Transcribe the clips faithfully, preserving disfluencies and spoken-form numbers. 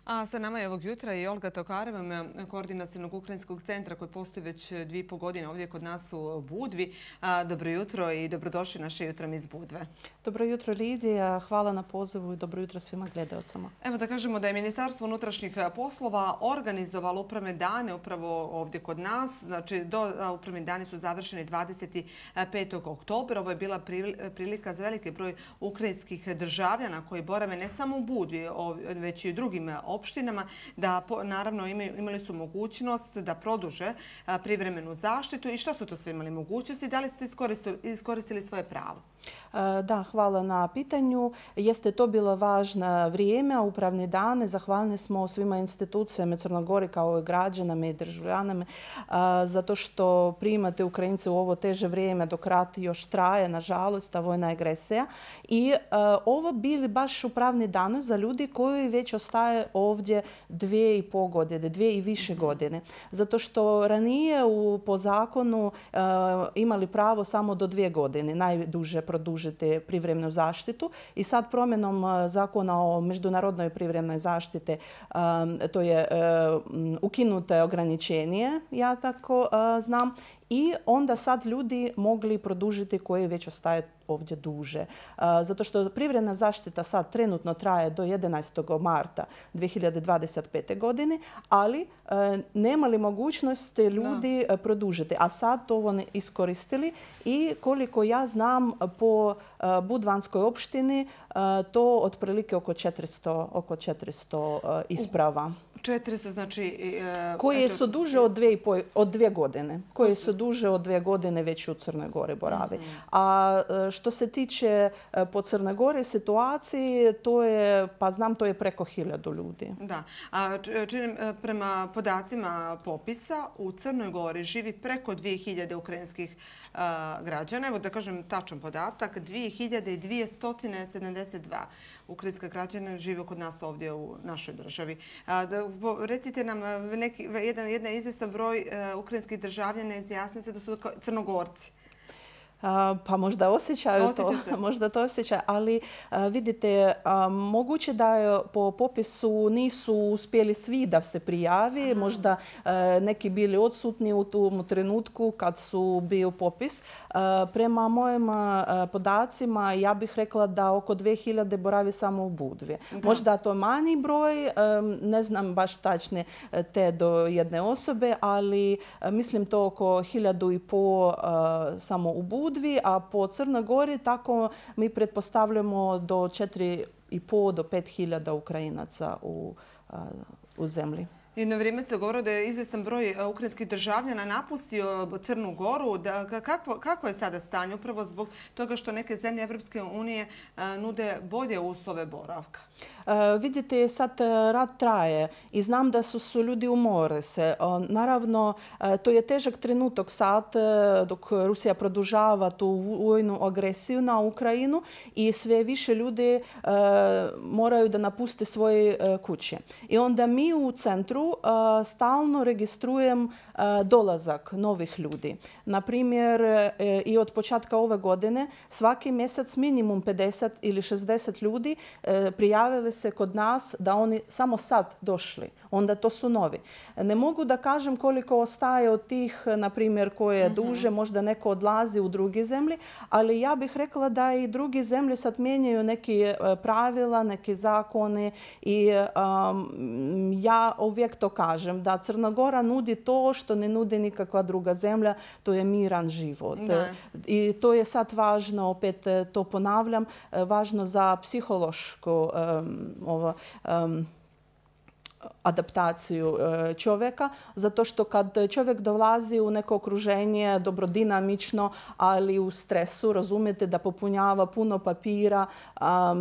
A sa nama je ovog jutra i Olga Tokareva, koordinacionog ukrajinskog centra koji postoji već dvije i po godine ovdje kod nas u Budvi. Dobro jutro i dobrodošli naše jutrom iz Budve. Dobro jutro, Lidija. Hvala na pozivu i dobro jutro svima gledalcima. Evo da kažemo da je Ministarstvo unutrašnjih poslova organizovalo upravne dane upravo ovdje kod nas. Znači, do upravni dani su završeni dvadeset petog oktobra. Ovo je bila prilika za veliki broj ukrajinskih državljana koji borave ne samo u Budvi, već i u drugim opštinama, da naravno imali su mogućnost da produže privremenu zaštitu. I što su to sve imali mogućnosti? Da li ste iskoristili svoje pravo? Da, hvala na pitanju. Jeste to bilo važno vrijeme, upravni dane. Zahvalni smo svima institucijama Crne Gore kao i građanama i državljanama zato što primate Ukrajince u ovo teže vrijeme dok rat još traje, nažalost, ta vojna agresija. I ovo bili baš upravni dani za ljudi koji već ostaje ovdje dvije i pol godine, dvije i više godine. Zato što ranije po zakonu imali pravo samo do dvije godine, najduže produžiti privremenu zaštitu i sad promjenom zakona o međunarodnoj privremenoj zaštite to je ukinuto ograničenje, ja tako znam, i onda sad ljudi mogli produžiti koji već ostaje ovdje duže. Zato što privremena zaštita sad trenutno traje do jedanaestog marta dvije hiljade dvadeset pete. godine, ali nemali mogućnosti ljudi da. produžiti. A sad to oni iskoristili i koliko ja znam po Budvanskoj opštini to otprilike oko četiristo, oko četiristo isprava. četiristo znači... Koje su duže od dvije, od dvije godine. Koje su duže od dvije godine već u Crnoj Gori borave. Mm-hmm. A što se tiče po Crnoj Gori situacije, to je, pa znam, to je preko hiljadu ljudi. Da. A činim, prema podacima popisa u Crnoj Gori živi preko dvije hiljade ukrajinskih a, građana. Evo da kažem tačan podatak, dvije hiljade dvjesto sedamdeset dva ukrajinska građana žive kod nas ovdje u našoj državi. A, da, recite nam, neki, jedan, jedan izvjestan broj uh, ukrajinskih državljana izjasnio se da su Crnogorci. Pa možda osjećaju to, možda to osjećaju, ali vidite, moguće da je po popisu nisu uspjeli svi da se prijavi, Aha. možda neki bili odsutni u tom trenutku kad su bio popis. Prema mojim podacima ja bih rekla da oko dvije hiljade boravi samo u Budvi. Da. Možda to manji broj, ne znam baš tačne te do jedne osobe, ali mislim to oko hiljadu i po samo u Budvi. A po Crnoj Gori tako mi pretpostavljamo do četiri i pol do pet hiljada Ukrajinaca u, u zemlji. Jedno vrijeme se govorilo da je izvjestan broj ukrajinskih državljana napustio Crnu Goru. Da, kakvo, kako je sada stanje upravo zbog toga što neke zemlje Evropske unije nude bolje uslove boravka? Uh, vidite, sad rat traje i znam da su, su ljudi umore se. Uh, naravno, uh, to je težak trenutak sad uh, dok Rusija produžava tu vojnu agresiju na Ukrajinu i sve više ljudi uh, moraju da napuste svoje uh, kuće. I onda mi u centru uh, stalno registrujem uh, dolazak novih ljudi. Naprimjer, uh, i od početka ove godine svaki mjesec minimum pedeset ili šezdeset ljudi uh, prijavili se kod nas da oni samo sad došli. Onda to su novi. Ne mogu da kažem koliko ostaje od tih, na primjer, koje je duže, možda neko odlazi u drugi zemlji, ali ja bih rekla da i drugi zemlje sad mijenjaju neke pravila, neke zakone i um, ja uvijek to kažem, da Crna Gora nudi to što ne nudi nikakva druga zemlja, to je miran život. Da. I to je sad važno, opet to ponavljam, važno za psihološku um, ovo, um, adaptaciju čovjeka, zato što kad čovjek dolazi u neko okruženje dobrodinamično, ali u stresu, razumijete, da popunjava puno papira,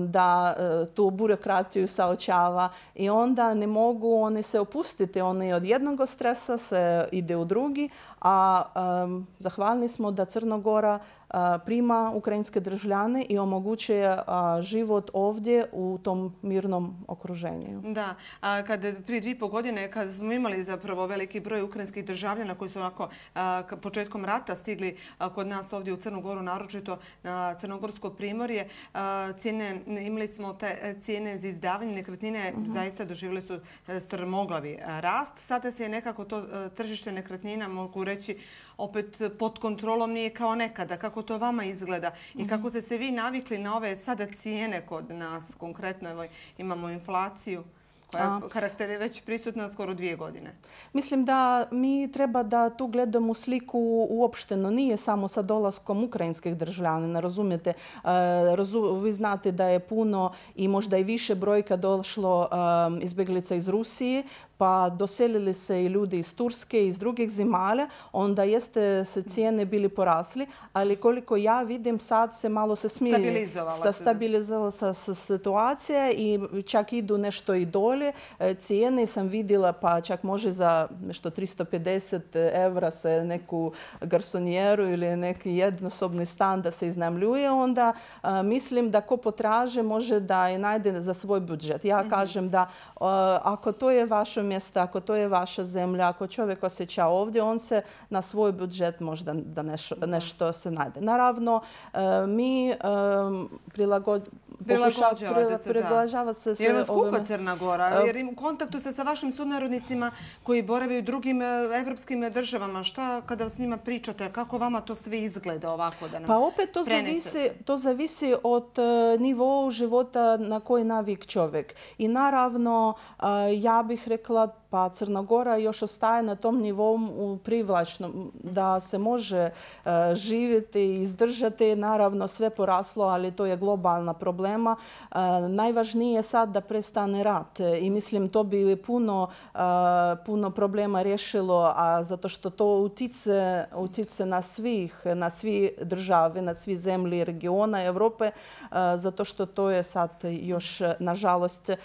da tu burokratiju saočava i onda ne mogu oni se opustiti. Oni od jednog stresa se ide u drugi, a um, zahvalni smo da Crna Gora prima ukrajinske državljane i omogućuje život ovdje u tom mirnom okruženju. Da, a kad prije dvije i pol godine kad smo imali zapravo veliki broj ukrajinskih državljana koji su onako početkom rata stigli kod nas ovdje u Crnu Goru, naročito na Crnogorsko primorje, cijene, imali smo te cijene za izdavanje nekretnine, zaista doživjeli su strmoglavi rast. Sada se je nekako to tržište nekretnina, mogu reći, opet pod kontrolom, nije kao nekada. Kako to vama izgleda i kako ste se vi navikli na ove sada cijene kod nas? Konkretno evo, imamo inflaciju koja karakter je već prisutna skoro dvije godine. Mislim da mi treba da tu gledamo sliku uopšteno. Nije samo sa dolaskom ukrajinskih državljana. Razumijete, vi znate da je puno i možda i više brojka došlo izbjeglica iz Rusije, pa doselili se i ljudi iz Turske i iz drugih zemalja, onda jeste se cijene bili porasli, ali koliko ja vidim sad se malo se smiri. Stabilizovala se. Stabilizovala se situacija i čak idu nešto i dolje. Cijene sam vidjela pa čak može za nešto tristo pedeset evra se neku garsonijeru ili neki jednosobni stan da se iznajmljuje, onda a, mislim da ko potraže može da i najde za svoj budžet. Ja mm-hmm. kažem da a, ako to je vaše mjesto, ako to je vaša zemlja, ako čovjek osjeća ovdje, on se na svoj budžet možda da nešto, nešto se najde. Naravno, a, mi prilagođavamo Prilagođavate se, da. Se jer vas skupa Crna Gora, jer im u kontaktu se sa vašim sunarodnicima koji borave u drugim evropskim državama. Šta kada s njima pričate, kako vama to sve izgleda ovako da nam Pa opet to zavisi, to zavisi od nivoa života na koji navik čovjek. I naravno, ja bih rekla pa Crna Gora još ostaje na tom nivou privlačnom da se može uh, živjeti i izdržati. Naravno sve poraslo, ali to je globalna problema. Uh, najvažnije je sad da prestane rat i mislim to bi puno, uh, puno problema riješilo, a zato što to utice, utice na svih, na svi države, na svi zemlji regiona Europe, uh, zato što to je sad još nažalost uh,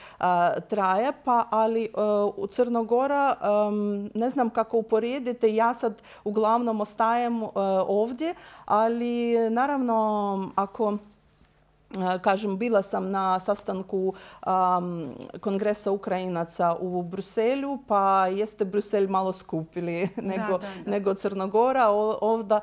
traje, pa ali uh, u Crnoj Gora, um, ne znam kako uporedite, ja sad uglavnom ostajem uh, ovdje, ali naravno ako kažem, bila sam na sastanku um, Kongresa Ukrajinaca u Bruselju, pa jeste Bruselj malo skupili nego, da, da, da. nego Crnogora. Ovdje uh,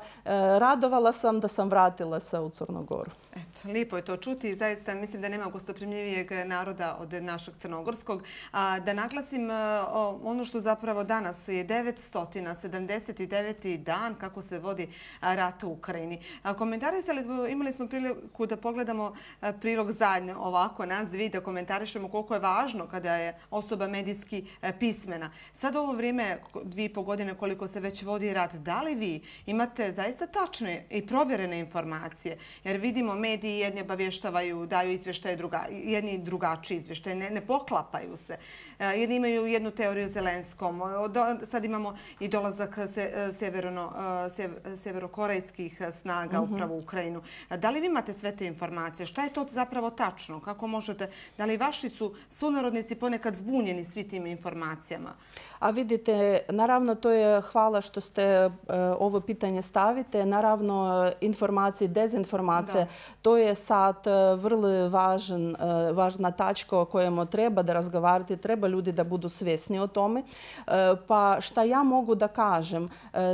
radovala sam da sam vratila se u Crnogoru. Eto, lijepo je to čuti i zaista mislim da nema gostoprimljivijeg naroda od našeg crnogorskog. A, da naglasim a, ono što zapravo danas je devetsto sedamdeset deveti dan kako se vodi a, rat u Ukrajini. A, komentarisali smo, imali smo priliku da pogledamo a, prilog zajedno ovako nas dvi, da komentarišemo koliko je važno kada je osoba medijski a, pismena. Sad ovo vrijeme, dvije i po godine koliko se već vodi rat, da li vi imate zaista tačne i provjerene informacije? Jer vidimo mediji jedni obavještavaju, daju izvještaje, druga, jedni drugačiji izvještaje, ne, ne poklapaju se. Jedni imaju jednu teoriju o Zelenskom. Sad imamo i dolazak se, sjeverno, sjeverokorejskih snaga mm-hmm. upravo u Ukrajinu. Da li vi imate sve te informacije? Šta je to zapravo tačno? Kako možete, da li vaši su sunarodnici ponekad zbunjeni svi tim informacijama? A vidite, naravno to je hvala što ste uh, ovo pitanje stavite. Naravno informacije, dezinformacije, da. To je sad uh, vrlo važan, uh, važna tačka o kojemu treba da razgovarati, treba ljudi da budu svjesni o tome. Uh, pa šta ja mogu da kažem, uh,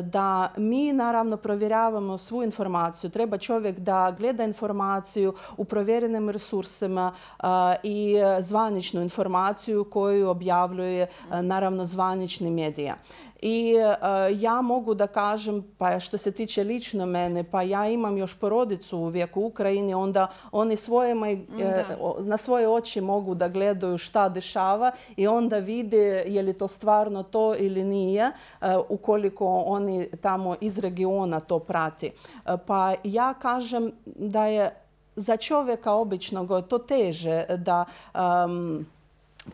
da mi naravno provjeravamo svu informaciju. Treba čovjek da gleda informaciju u provjerenim resursima uh, i zvaničnu informaciju koju objavljuje uh, naravno zvanični medija. I uh, ja mogu da kažem, pa što se tiče lično mene, pa ja imam još porodicu uvijek u Ukrajini, onda oni svojima, uh, na svoje oči mogu da gledaju šta dešava i onda vide je li to stvarno to ili nije, uh, ukoliko oni tamo iz regiona to prati. Uh, pa ja kažem da je za čovjeka običnog to teže da um,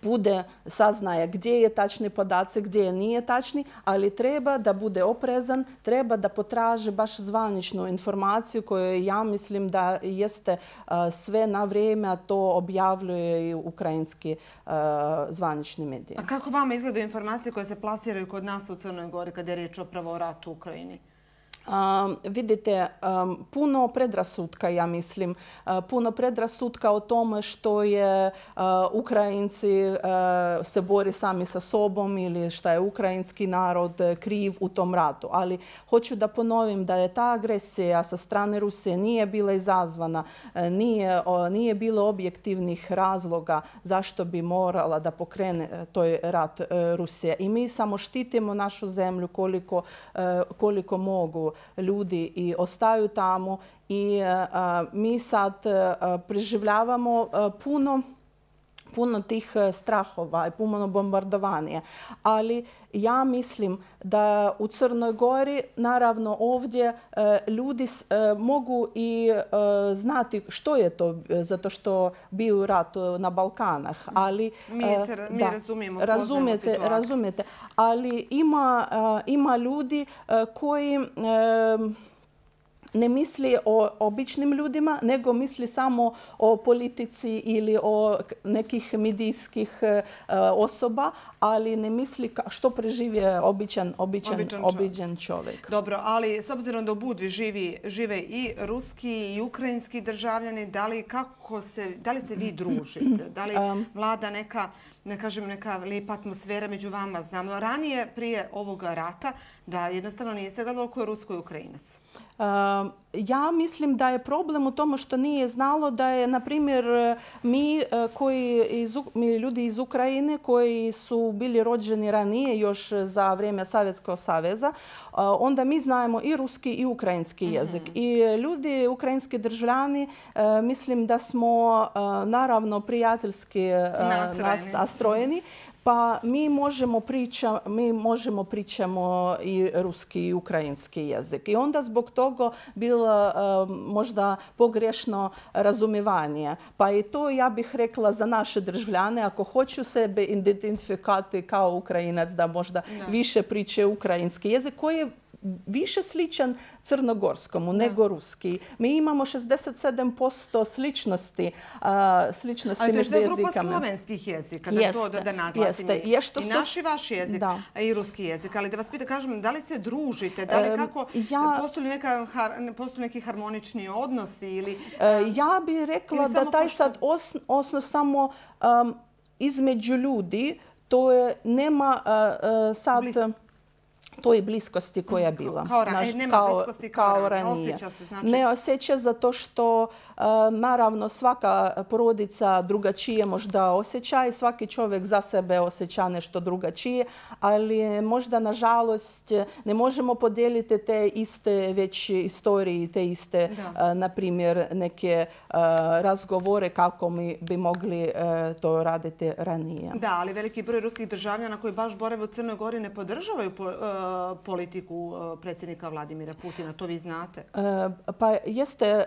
bude saznaje gdje je tačni podaci, gdje nije tačni, ali treba da bude oprezan, treba da potraži baš zvaničnu informaciju koju ja mislim da jeste uh, sve na vrijeme, a to objavljuje i ukrajinski uh, zvanični mediji. A kako vama izgledaju informacije koje se plasiraju kod nas u Crnoj Gori kada je riječ upravo o ratu u Ukrajini? Um, vidite, um, puno predrasutka, ja mislim, uh, puno predrasutka o tome što je uh, Ukrajinci uh, se bori sami sa sobom ili šta je ukrajinski narod kriv u tom ratu. Ali hoću da ponovim da je ta agresija sa strane Rusije nije bila izazvana, uh, nije, uh, nije bilo objektivnih razloga zašto bi morala da pokrene uh, toj rat uh, Rusija. I mi samo štitimo našu zemlju koliko, uh, koliko mogu ljudi i ostaju tamo i uh, mi sad uh, preživljavamo uh, puno puno tih strahova i puno bombardovanja. Ali ja mislim da u Crnoj Gori, naravno ovdje, ljudi mogu i znati što je to, zato što bio rat na Balkanah. Ali, mi, se, mi da, razumijemo, razumijete, razumijete. Ali ima, ima ljudi koji ne misli o običnim ljudima, nego misli samo o politici ili o nekih medijskih uh, osoba, ali ne misli što preživje običan, običan, običan, običan čovjek. Dobro, ali s obzirom da u Budvi živi, žive i ruski i ukrajinski državljani, da li, kako se, da li se vi družite? Da li vlada neka, ne kažem, neka lijepa atmosfera među vama? Znamo ranije, prije ovog rata, da jednostavno nije se gledalo ko je Rusko i Ukrajinac. Uh, ja mislim da je problem u tome što nije znalo da je, na primjer, mi, koji iz, mi ljudi iz Ukrajine koji su bili rođeni ranije još za vrijeme Sovjetskog saveza, uh, onda mi znamo i ruski i ukrajinski jezik. Mm-hmm. I ljudi, ukrajinski državljani, uh, mislim da smo uh, naravno prijateljski uh, nastrojeni. nastrojeni. Pa mi možemo, priča, mi možemo pričamo i ruski i ukrajinski jezik. I onda zbog toga bilo uh, možda pogrešno razumijevanje. Pa i to ja bih rekla za naše državljane, ako hoću sebe identifikati kao Ukrajinac, da možda da. više priče ukrajinski jezik, koji je više sličan crnogorskomu da. nego ruski. Mi imamo šezdeset sedam posto sličnosti, uh, sličnosti među jezikama. Ali to je sve grupa jezikama. slovenskih jezika, da, to, da, da naglasim. Jeste. Je što I naš i vaš jezik, da. i ruski jezik. Ali da vas pitam, kažem, da li se družite? Da li kako, ja, postoji, neka, postoji neki harmonični odnosi? Ili, uh, ja bih rekla da taj pošto... sad os, osnov samo um, između ljudi, to je, nema uh, uh, sad... Blis. toj bliskosti koja je bila. Kao, ra, Znaš, nema kao, bliskosti kao, kao ranije. Osjeća se, znači... Ne osjeća zato što uh, naravno svaka porodica drugačije možda osjeća i svaki čovjek za sebe osjeća nešto drugačije, ali možda nažalost ne možemo podijeliti te iste već istorije, te iste, uh, na primjer, neke uh, razgovore kako mi bi mogli uh, to raditi ranije. Da, ali veliki broj ruskih državljana koji baš borave u Crnoj Gori ne podržavaju po, uh, politiku predsjednika Vladimira Putina, to vi znate? Pa jeste,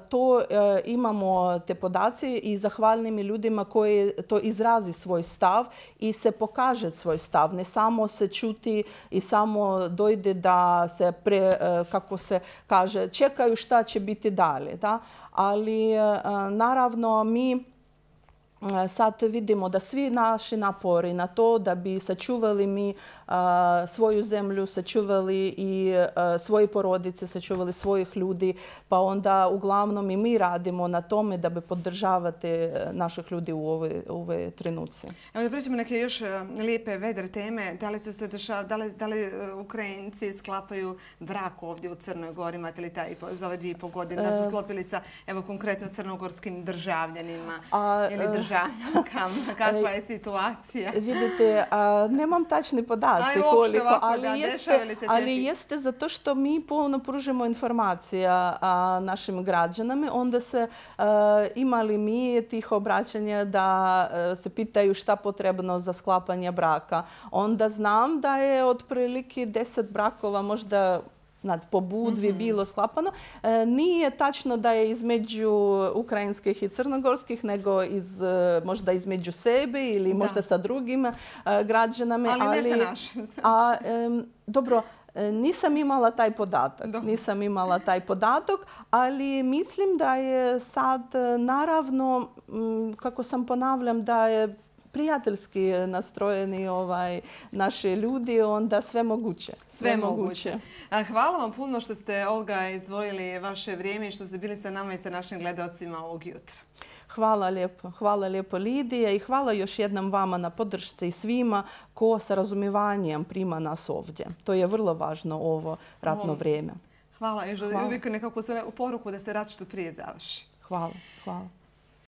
to imamo te podaci i zahvalnim ljudima koji to izrazi svoj stav i se pokaže svoj stav. Ne samo se čuti i samo dojde da se, pre, kako se kaže, čekaju šta će biti dalje. Da? Ali naravno mi sad vidimo da svi naši napori na to da bi sačuvali mi uh, svoju zemlju, sačuvali i uh, svoje porodice, sačuvali svojih ljudi, pa onda uglavnom i mi radimo na tome da bi podržavate naših ljudi u ove, u ove trenuci. Evo da pređemo neke još lijepe vedre teme. Da li su se dešava, da li, da li Ukrajinci sklapaju brak ovdje u Crnoj Gori? Imate li taj za ove dvije i pol godine da su sklopili sa, evo konkretno, crnogorskim državljanima A, ili državljanima? Kakva je situacija? Vidite, a, nemam tačni podaci ali koliko, ovako, ali, da, jeste, ali jeste zato što mi puno pružimo informacija a, našim građanima. Onda se a, imali mi tih obraćanja da a, se pitaju šta potrebno za sklapanje braka. Onda znam da je otprilike deset brakova možda po Budvi mm-hmm. bilo sklapano. E, nije tačno da je između ukrajinskih i crnogorskih, nego iz, možda između sebe ili da. možda sa drugim uh, građanama. Ali, ali ne sa našim. Znači. A, um, dobro, nisam imala taj podatak. Do. Nisam imala taj podatak, ali mislim da je sad naravno, kako sam ponavljam, da je prijateljski nastrojeni ovaj, naši ljudi, onda sve moguće. Sve, sve moguće. moguće. Hvala vam puno što ste, Olga, izdvojili vaše vrijeme i što ste bili sa nama i sa našim gledalcima ovog jutra. Hvala lijepo. Hvala lijepo Lidije i hvala još jednom vama na podršci i svima ko sa razumivanjem prima nas ovdje. To je vrlo važno ovo ratno vrijeme. Hvala i uvijek nekako poruku da se rat što prije završi. Hvala. Hvala.